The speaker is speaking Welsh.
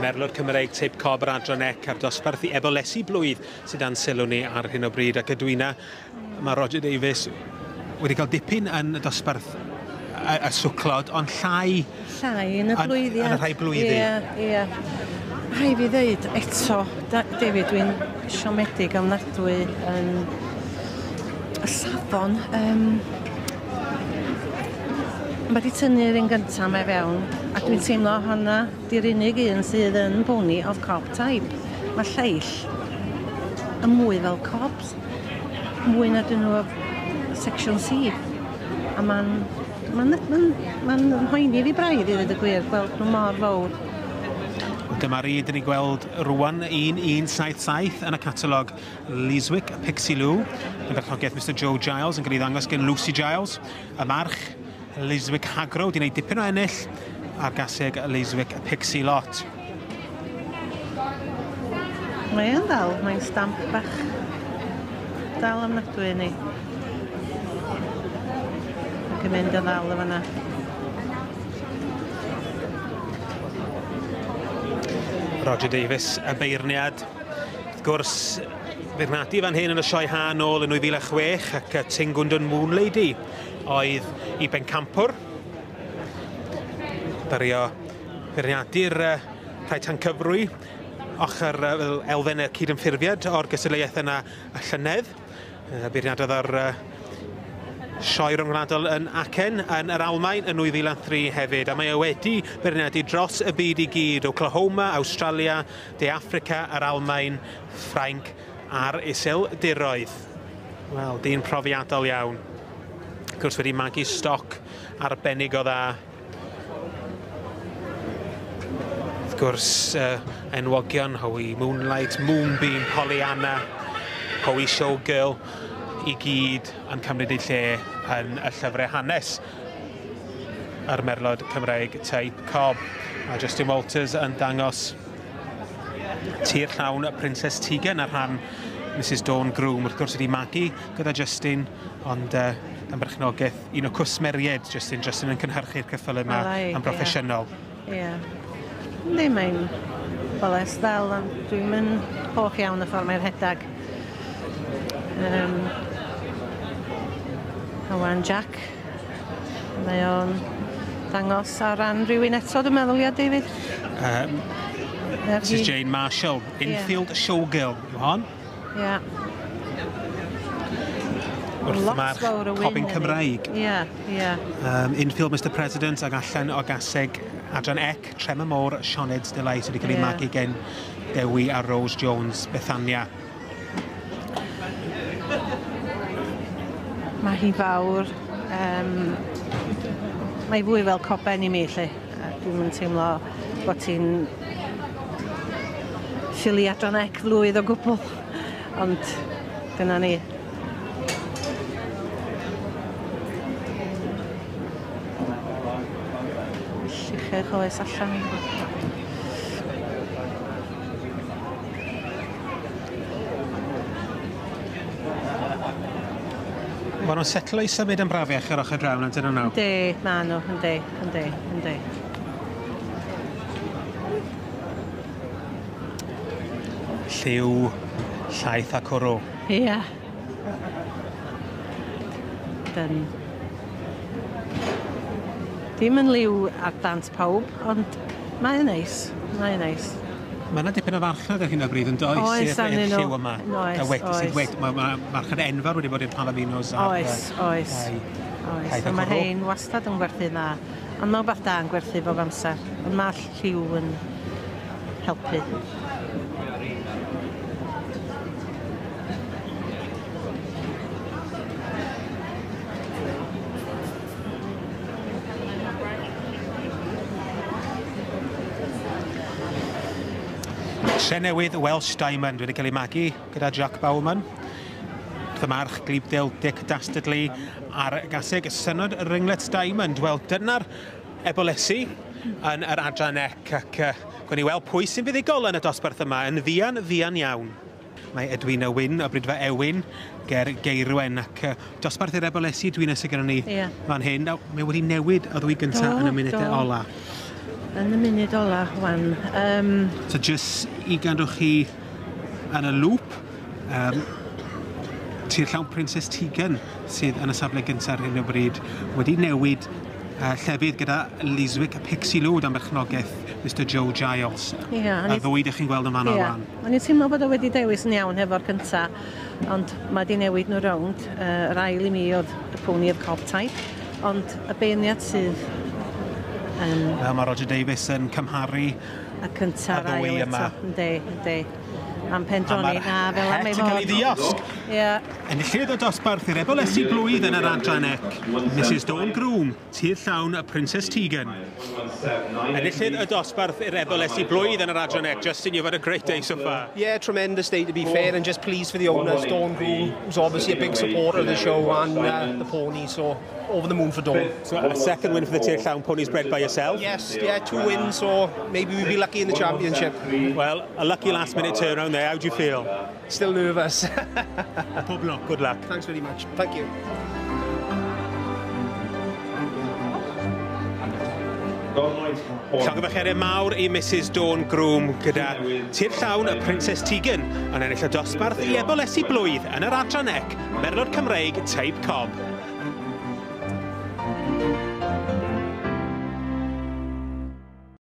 Merlod Cymreig teip cob yr adran ec a'r dosbarth i ebolesi blwydd sydd dan sylw ni ar hyn o bryd. Ac Edwina, mae Roger Davies wedi cael dipyn yn y dosbarth y swclod, ond llai... Llai yn y blwyddiad. Yn y rhai blwyddi. Ie, ie. Rhaid fi ddeud eto, David, dwi'n siomedig ofnadwy yn y safon. Mae wedi tynnu'r un gyntaf mae fewn, a dwi'n teimlo honna di'r unig un sydd yn pony of cob type. Mae lleill yn mwy fel cobs, mwy na dyn nhw o section C. A mae'n mhoeni fi braidd i ddweud y gwir, gweld nhw mor fawr. Dyma'r un dyn ni'n gweld rwan, 1177 yn y catalog Liswick Pixie Lou, yn berchnogaeth Mr Joe Giles, yn cael ei ddangos gen Lucy Giles. Y march Liswick Hagro wedi gwneud dipyn o ennill a'r gaseg Liswick Pixie Lot. Mae yn ddal, mae'n stamp bach dal ofnadwy ni. Ac yn mynd yn ddal o fanna. Roger Davies, y beirniad. Wrth gwrs, beirniadu fan hyn yn y sioe ha nôl yn 2006 ac Tingwndwn Moon Lady oedd i bencampwr. Dario beirniadu'r rhai tancyfrwy ochr fel elfen y cydymffurfiad o'r gystadleuaeth yna y llynedd. Beirniadodd ar sioe ryngwladol yn Aachen yn yr Almaen yn 2003 hefyd, a mae e wedi beirniadu dros y byd i gyd, Oklahoma, Australia, De Affrica, yr Almaen, Ffrainc a'r Iseldiroedd. Wel, dyn profiadol iawn. Wrth gwrs wedi magu stoc arbennig o dda. Wrth gwrs, enwogion, Howie Moonlight, Moonbeam, Pollyanna, Howie Showgirl, i gyd yn cymryd eu lle yn y llyfrau hanes yr merlod Cymreig teip cob. A Justin Walters yn dangos tir llawn Princess Tegan ar rhan Mrs Dawn Groom. Wrth gwrs wedi magu gyda Justin, ond dan berchnogaeth un o cwsmeriaid Justin. Justin yn cynhyrchu'r ceffylau yma yn broffesiynol. Ie. Yndi, mae'n boles ddel, ond dwi'n mynd hoff iawn y ffordd mae'r rhedag. Owen Jack, mae o'n dangos ar ran rhywun eto, dwi'n meddwl, ia, David? Mrs Jane Marshall, Infield Showgirl, yw hon. Ie. Wrth march Cobyn Cymraeg. Ie, ie. Infield Mr President ag allan o gaseg Adran Ec, Trem y Môr, Sioned Delight wedi cael ei magu gen Dewi a Rose Jones, Bethania. Mae hi fawr, mae fwy fel coben i mi, lle. Dwi'm yn teimlo bod hi'n ffili adran ec flwydd o gwbl, ond dyna ni. Lluchio choes allan. Maen nhw'n setlo i symud yn brafiach ar ochr draw, dyn nhw? Yndi, maen nhw, yndi, yndi, yndi. Lliw, llaeth a cwrw. Ie. Dyn. Dim yn liw ar dant pawb, ond mae'n neis, mae'n neis. Mae yna dipyn o farchnad ar hyn o bryd yn does? Oes, arnyn nhw. Lliw yma. Oes, oes. Mae marchnad enfawr wedi bod i'r Palominos. Oes, oes. Oes, mae hein wastad yn gwerthu dda. Ond mae rhywbeth da yn gwerthu bob amser. Ond mae lliw yn helpu. Trenewydd Welsh Diamond wedi cael ei magu gyda Jack Bauman. Wrth y march Glibdale Dick Dastardly a'r gaseg Synod Ringlet Diamond. Wel, dyna'r ebolesi yn yr adran ec ac gwn i weld pwy sy'n fuddugol yn y dosbarth yma yn fuan, fuan iawn. Mae Edwina Wyn o Brydfa Ewin ger Geirwen ac dosbarth i'r ebolesi Edwina sydd gyda ni fan hyn. Mae wedi newid y ddwy gyntaf yn y munudau ola. Yn y munud ola, wan. So just i gadw chi yn y loop, Tir Llawn Princess Tegan sydd yn y safle gyntaf ar hyn o bryd wedi newid llefydd gyda Liswick Pixie Lou dan berchnogaeth Mr Joe Giles. Ia, Y ddwy ydych chi'n gweld yn fanno rwan. O'n i'n teimlo bod o wedi dewis yn iawn hefo'r cynta, ond mae di newid nhw rownd. Yr ail i mi oedd y pony of cob type, ond y beirniad sydd yn Fel mae Roger Davies yn cymharu y cynta y ddwy ail yma. eto. Yndi, yndi. Am A pendroni, mae'r na, fel am het ei yn cael ei fod. ddiosg. Ie. Enillydd y dosbarth i'r ebolesi blwydd yn yr adran C, Mrs Dawn Groom, Tir Llawn y Princess Tegan. Enillydd y dosbarth i'r ebolesi blwydd yn yr adran C. Justin, you've had a great day so far. Yeah, tremendous day to be fair, and just pleased for the owners, Dawn Groom, who's obviously a big supporter of the show, and the pony, so over the moon for Dawn. So a second win for the Tir Llawn ponies bred by yourself. Yes, yeah, 2 wins, so maybe we'll be lucky in the championship. Well, a lucky last minute turnaround there. How do you feel? Still nervous. Pob lwc, good luck. Thanks very much. Thank you. Llongyfarchiadau mawr i Mrs Dawn Groom gyda Tir Llawn y Princess Tegan yn ennill y dosbarth i ebolesi blwydd yn yr adran C, Merlod Cymreig Teip Cob.